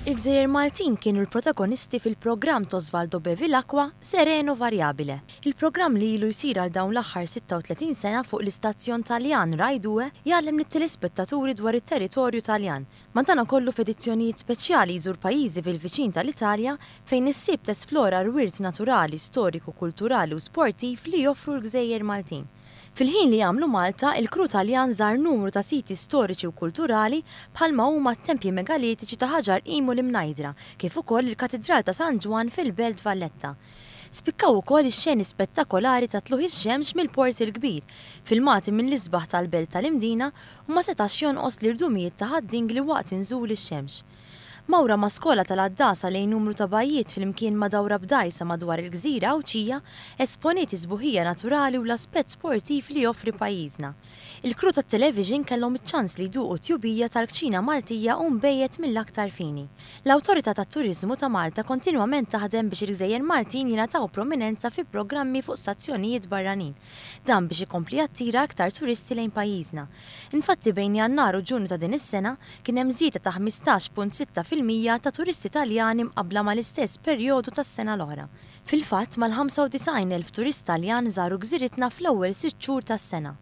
Il-Gżejjer Maltin kienu l-protagonisti fil-programm t'Osvaldo Bevilacqua Sereno Variabile. Il-programm li ilu jsir għal dawn l-aħħar 36 sena fuq l-istazzjon Taljan Rai Due jgħallem lit-telespettaturi dwar it-territorju Taljan. Madankollu f'edizzjonijiet speċjali jżur pajjiżi fil-viċin tal-Italja fejn issib tesplora r-wirt naturali, storiku, kulturali u sportiv li joffru l-Gżejjer Maltin. Fil-ħin li għamlu Malta, il-kru Taljan żar numru ta' siti storiċi u kulturali bħalma huma t-tempji megalitiċi ta' Ħaġar Qim u l-Imnajdra, kif ukoll il-Katidral ta' San Ġwann fil-Belt Valletta. Spikkaw ukoll ix-xeni spettakolari ta' tlugħ ix-xemx mill-Port il-Kbir, filmati mill-isbaħ tal-Belt tal-Imdina u ma setax jonqos l-irdumijiet ta' Ħad-Dingli waqt inżul ix-xemx. Mawra ma' skola tal-għaddasa lejn numru ta' bajjiet flimkien ma' dawra b'dgħajsa madwar il-gżira Għawdxija esponiet is-sbuħija naturali u l-aspett sportiv li joffri pajjiżna. Il-crew tat-television kellhom iċ-ċans li jduqu t-tjubija tal-kċina Maltija u nbejjed mill-aktar fini. L-Awtorità tat-Turiżmu ta' Malta kontinwament taħdem biex il-gżejjer Maltin jingħataw prominenza fi programmi fuq stazzjonijiet barranin. Dan biex ikompli jattira iktar turisti lejn pajjiżna. Infatti bejn Jannar u Ġunju ta' din is-sena kien hemm żieda ta' 15.6% ta' turisti Taljani mqabbla mal-istess perjodu tas-sena l-oħra. Fil-fatt, mal-95,000 turist Taljan żaru gżiritna fl-ewwel sitt xhur tas-sena.